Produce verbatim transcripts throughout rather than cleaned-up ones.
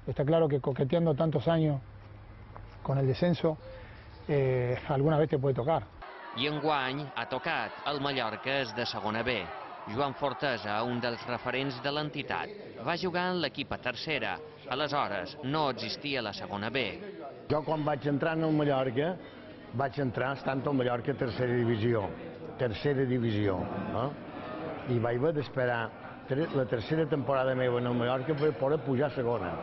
Está claro que coqueteando tantos años con el descenso, eh, alguna vez te puede tocar. I enguany ha tocat. El Mallorca és de segona B. Joan Fortesa, un dels referents de l'entitat, va jugar en l'equip a tercera. Aleshores, no existia la segona B. Jo quan vaig entrar en el Mallorca, vaig entrar estant al Mallorca tercera divisió. Tercera divisió. Eh? I vaig haver d'esperar la tercera temporada meva en el Mallorca per poder pujar a segona.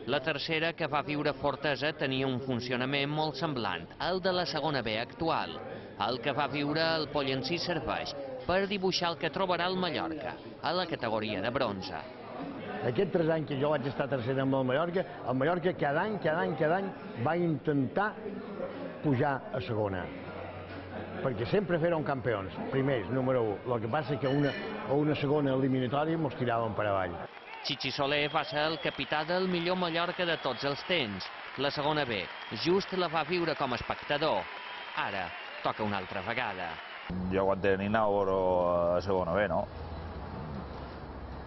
La tercera que va viure Fortesa tenia un funcionament molt semblant al de la segona B actual. El que va viure el Pollencí serveix per dibuixar el que trobarà el Mallorca a la categoria de bronze. Aquests tres anys que jo vaig estar tercera amb el Mallorca, el Mallorca cada any, cada any, cada any va intentar pujar a segona. Perquè sempre feren campions, primers, número u. El que passa és que a una, a una segona eliminatòria mos tiraven per avall. Chichi Soler va ser el capità del millor Mallorca de tots els temps. La segona B just la va viure com a espectador. Ara toca una altra vegada. Jo quan tenia anava a segona B, no?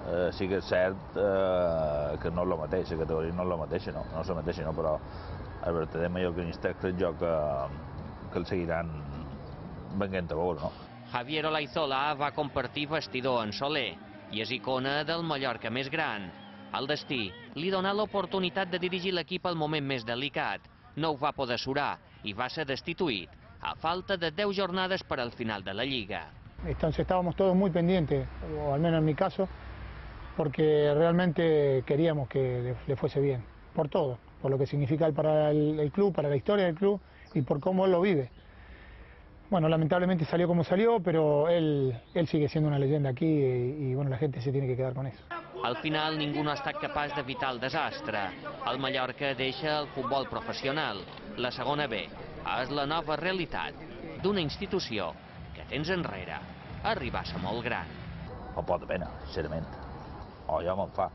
Eh, sí que és cert eh, que no és la mateixa, la categoria no és la mateixa, no? No és la mateixa, no? Però el verdader mallorquinista crec jo que, que el seguiran venint a veure, no? Javier Olaizola va compartir vestidor en Soler i és icona del Mallorca més gran. El destí li donà l'oportunitat de dirigir l'equip al moment més delicat. No ho va poder surar i va ser destituït a falta de deu jornades per al final de la Lliga. Entonces estábamos todos muy pendientes, o al menos en mi caso, porque realmente queríamos que le, le fuese bien, por todo, por lo que significa para el, el club, para la historia del club y por cómo él lo vive. Bueno, lamentablemente salió como salió, pero él, él sigue siendo una leyenda aquí y, y bueno, la gente se tiene que quedar con eso. Al final ningú no ha estat capaç d'evitar el desastre. El Mallorca deixa el futbol professional. La segona B és la nova realitat d'una institució que temps enrere arriba a ser molt gran. Em pot de pena, sincerament. O ja me'n fa.